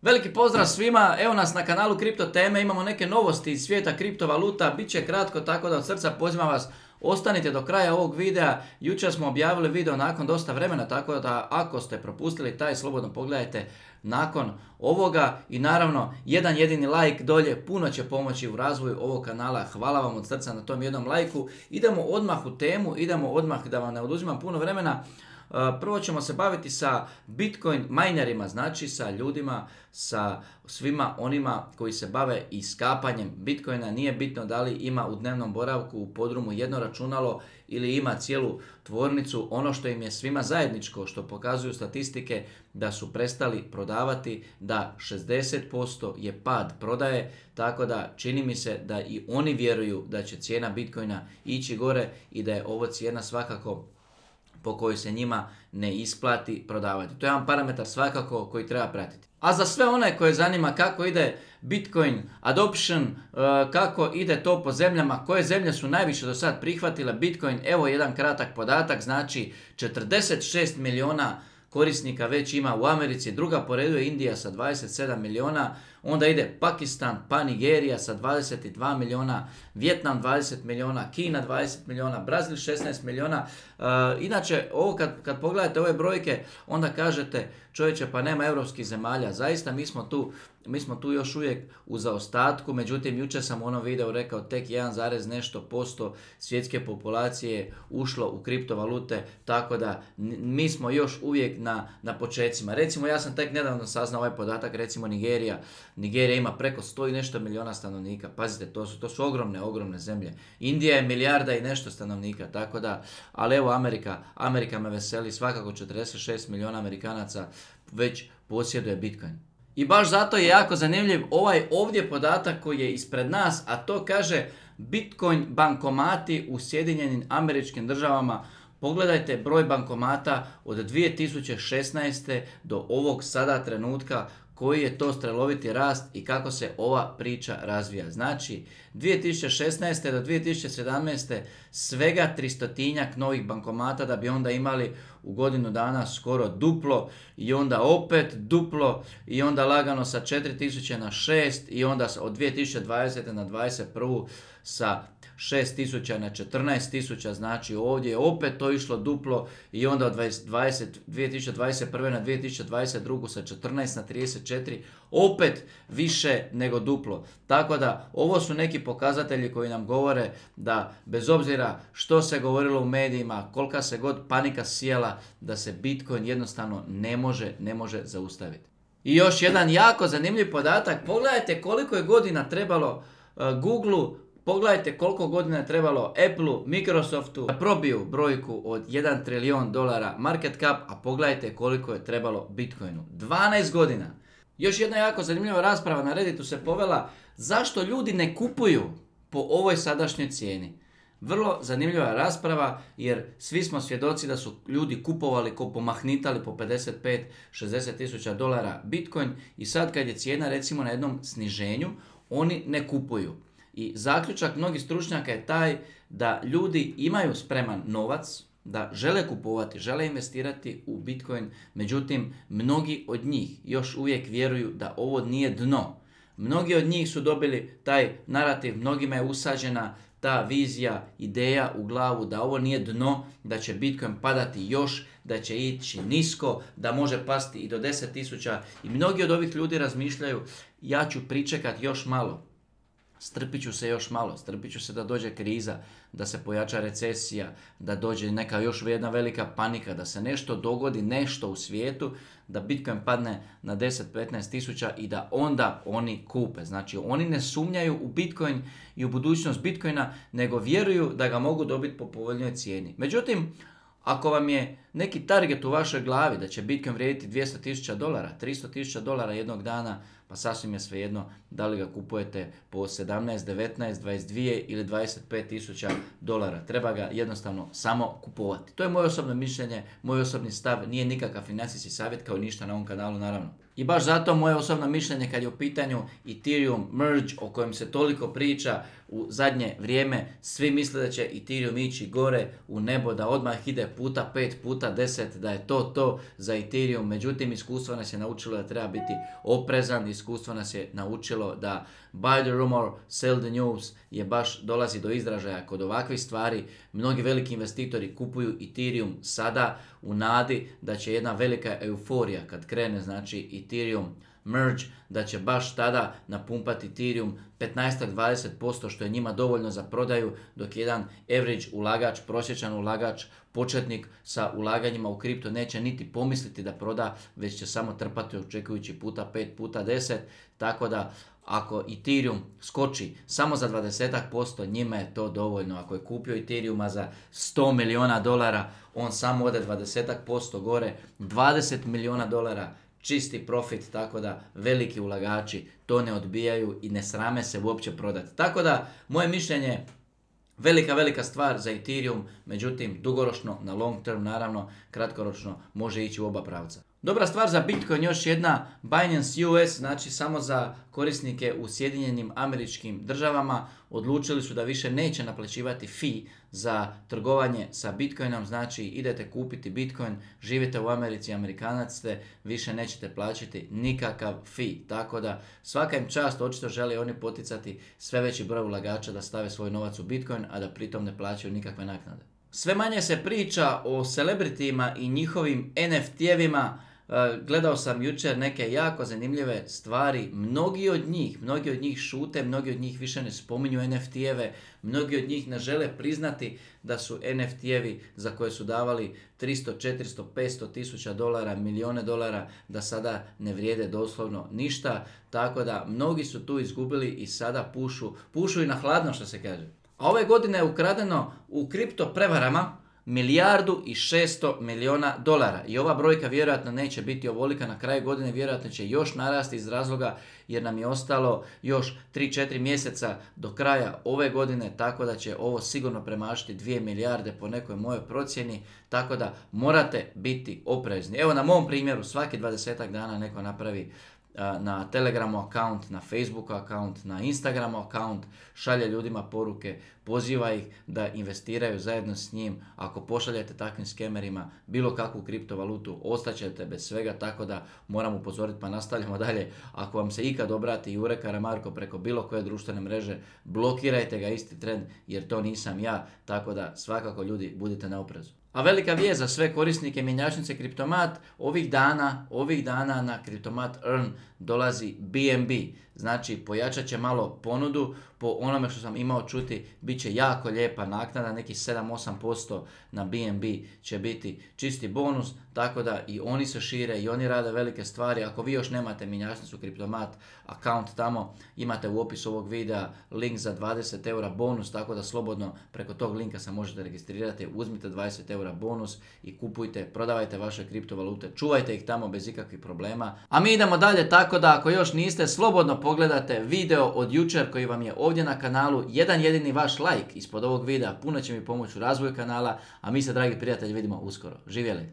Veliki pozdrav svima, evo nas na kanalu Kripto Teme, imamo neke novosti iz svijeta kriptovaluta, bit će kratko, tako da od srca pozivam vas, ostanite do kraja ovog videa. Jučer smo objavili video nakon dosta vremena, tako da ako ste propustili taj, slobodno pogledajte nakon ovoga i naravno jedan jedini like dolje puno će pomoći u razvoju ovog kanala. Hvala vam od srca na tom jednom lajku. Idemo odmah u temu, idemo odmah da vam ne oduzimam puno vremena. Prvo ćemo se baviti sa Bitcoin minerima, znači sa ljudima, sa svima onima koji se bave iskapanjem Bitcoina. Nije bitno da li ima u dnevnom boravku u podrumu jedno računalo ili ima cijelu tvornicu. Ono što im je svima zajedničko, što pokazuju statistike, da su prestali prodavati, da 60% je pad prodaje, tako da čini mi se da i oni vjeruju da će cijena Bitcoina ići gore i da je ovo cijena svakako po kojoj se njima ne isplati prodavati. To je jedan parametar svakako koji treba pratiti. A za sve one koje zanima kako ide Bitcoin adoption, kako ide to po zemljama, koje zemlje su najviše do sad prihvatile Bitcoin, evo jedan kratak podatak, znači 46 milijuna korisnika već ima u Americi, druga po redu je Indija sa 27 milijuna, onda ide Pakistan, pa Nigerija sa 22 milijuna, Vijetnam 20 milijuna, Kina 20 milijuna, Brazil 16 milijuna. Inače, ovo kad pogledate ove brojke, onda kažete, čovječe, pa nema europskih zemalja. Zaista mi smo tu još uvijek u zaostatku, međutim jučer sam u onom videu rekao tek 1, nešto posto svjetske populacije ušlo u kriptovalute, tako da mi smo još uvijek na počecima. Recimo, ja sam tek nedavno saznao ovaj podatak, recimo Nigerija ima preko 100 i nešto milijuna stanovnika. Pazite, to su ogromne zemlje. Indija je milijarda i nešto stanovnika, tako da, ali evo Amerika me veseli, svakako 46 milijuna Amerikanaca već posjeduje Bitcoin. I baš zato je jako zanimljiv ovaj ovdje podatak koji je ispred nas, a to kaže Bitcoin bankomati u Sjedinjenim Američkim Državama. Pogledajte broj bankomata od 2016. do ovog sada trenutka, koji je to streloviti rast i kako se ova priča razvija. Znači, 2016. do 2017. svega 300-tinjak novih bankomata, da bi onda imali u godinu dana skoro duplo i onda opet duplo i onda lagano sa 4000 na 6 i onda od 2020. na 2021. sa 6000 na 14000, znači ovdje je opet to išlo duplo i onda od 2021. na 2022. sa 14 na 34, opet više nego duplo. Tako da ovo su neki pokazatelji koji nam govore da bez obzira što se govorilo u medijima, kolika se god panika sijala, da se Bitcoin jednostavno ne može zaustaviti. I još jedan jako zanimljiv podatak, pogledajte koliko je godina trebalo Googleu, pogledajte koliko godina je trebalo Appleu, Microsoftu da probiju brojku od 1 trilijon dolara market cap, a pogledajte koliko je trebalo Bitcoinu. 12 godina. Još jedna jako zanimljiva rasprava na Redditu se povela zašto ljudi ne kupuju po ovoj sadašnjoj cijeni. Vrlo zanimljiva rasprava jer svi smo svjedoci da su ljudi kupovali, pomahnitali po 55-60 tisuća dolara Bitcoin i sad kad je cijena recimo na jednom sniženju, oni ne kupuju. I zaključak mnogih stručnjaka je taj da ljudi imaju spreman novac, da žele kupovati, žele investirati u Bitcoin, međutim mnogi od njih još uvijek vjeruju da ovo nije dno. Mnogi od njih su dobili taj narativ, mnogima je usađena ta vizija, ideja u glavu da ovo nije dno, da će Bitcoin padati još, da će ići nisko, da može pasti i do 10.000 i mnogi od ovih ljudi razmišljaju ja ću pričekati još malo. Strpit ću se još malo, strpit ću se da dođe kriza, da se pojača recesija, da dođe neka još jedna velika panika, da se nešto dogodi, nešto u svijetu, da Bitcoin padne na 10-15 tisuća i da onda oni kupe. Znači oni ne sumnjaju u Bitcoin i u budućnost Bitcoina, nego vjeruju da ga mogu dobiti po povoljnoj cijeni. Međutim, ako vam je neki target u vašoj glavi da će Bitcoin vrijediti 200.000 dolara, 300.000 dolara jednog dana, pa sasvim je svejedno da li ga kupujete po 17, 19, 22 ili 25.000 dolara. Treba ga jednostavno samo kupovati. To je moje osobno mišljenje, moj osobni stav, nije nikakav financijski savjet kao ništa na ovom kanalu naravno. I baš zato moje osobno mišljenje kad je u pitanju Ethereum merge o kojem se toliko priča u zadnje vrijeme, svi misle da će Ethereum ići gore u nebo, da odmah ide puta 5, puta 10, da je to za Ethereum. Međutim, iskustvo nas je naučilo da treba biti oprezan, iskustvo nas je naučilo da buy the rumor, sell the news je baš dolazi do izražaja kod ovakvih stvari. Mnogi veliki investitori kupuju Ethereum sada u nadi da će jedna velika euforija kad krene, znači Ethereum merge, da će baš tada napumpati Ethereum 15-20%, što je njima dovoljno za prodaju, dok jedan average ulagač, prosječan ulagač, početnik sa ulaganjima u kripto neće niti pomisliti da proda, već će samo trpati očekujući puta 5, puta 10, tako da ako Ethereum skoči samo za 20%, njima je to dovoljno. Ako je kupio Ethereuma za $100 milijuna, on samo ode 20% gore, $20 milijuna, čisti profit, tako da veliki ulagači to ne odbijaju i ne srame se uopće prodati. Tako da, moje mišljenje, velika stvar za Ethereum, međutim, dugoročno, na long term, naravno, kratkoročno, može ići u oba pravca. Dobra stvar za Bitcoin još jedna, Binance US, znači samo za korisnike u Sjedinjenim Američkim Državama, odlučili su da više neće naplaćivati fee za trgovanje sa Bitcoinom, znači idete kupiti Bitcoin, živite u Americi, Amerikanac ste, više nećete plaćati nikakav fee, tako da svaka im čast, očito žele oni poticati sve veći broj ulagača da stave svoj novac u Bitcoin, a da pritom ne plaćaju nikakve naknade. Sve manje se priča o celebritima i njihovim NFT-evima. Gledao sam jučer neke jako zanimljive stvari, mnogi od njih šute, mnogi od njih više ne spominju NFT-eve, mnogi od njih ne žele priznati da su NFT-evi za koje su davali 300, 400, 500 tisuća dolara, milijone dolara, da sada ne vrijede doslovno ništa, tako da mnogi su tu izgubili i sada pušu i na hladno, što se kaže. A ove godine je ukradeno u kripto prevarama $1,6 milijuna i ova brojka vjerojatno neće biti ovolika na kraju godine, vjerojatno će još narasti iz razloga jer nam je ostalo još 3-4 mjeseca do kraja ove godine, tako da će ovo sigurno premašiti 2 milijarde po nekoj mojoj procjeni, tako da morate biti oprezni. Evo na mom primjeru, svaki 20 dana neko napravi na Telegramu account, na Facebooku account, na Instagramu account, šalje ljudima poruke, poziva ih da investiraju zajedno s njim. Ako pošaljete takvim skemerima bilo kakvu kriptovalutu, ostaćete bez svega, tako da moram upozoriti, pa nastavljamo dalje. Ako vam se ikad obrati Jure Karamarko preko bilo koje društvene mreže, blokirajte ga isti tren, jer to nisam ja, tako da svakako ljudi budite na oprezu. A velika vijest za sve korisnike mjenjačnice Kriptomat, ovih dana na Kriptomat Earn dolazi BNB. Znači pojačat će malo ponudu, po onome što sam imao čuti, bit će jako lijepa naknada, nekih 7-8% na BNB će biti čisti bonus, tako da i oni se šire i oni rade velike stvari. Ako vi još nemate mjenjačnicu Kriptomat account tamo, imate u opisu ovog videa link za 20 eura bonus, tako da slobodno preko tog linka se možete registrirati, uzmite 20 eura bonus i kupujte, prodavajte vaše kriptovalute, čuvajte ih tamo bez ikakvih problema. A mi idemo dalje, tako da ako još niste, slobodno pogledate video od jučer koji vam je ovdje na kanalu. Jedan jedini vaš like ispod ovog videa puno će mi pomoći u razvoju kanala, a mi se, dragi prijatelji, vidimo uskoro. Živjeli!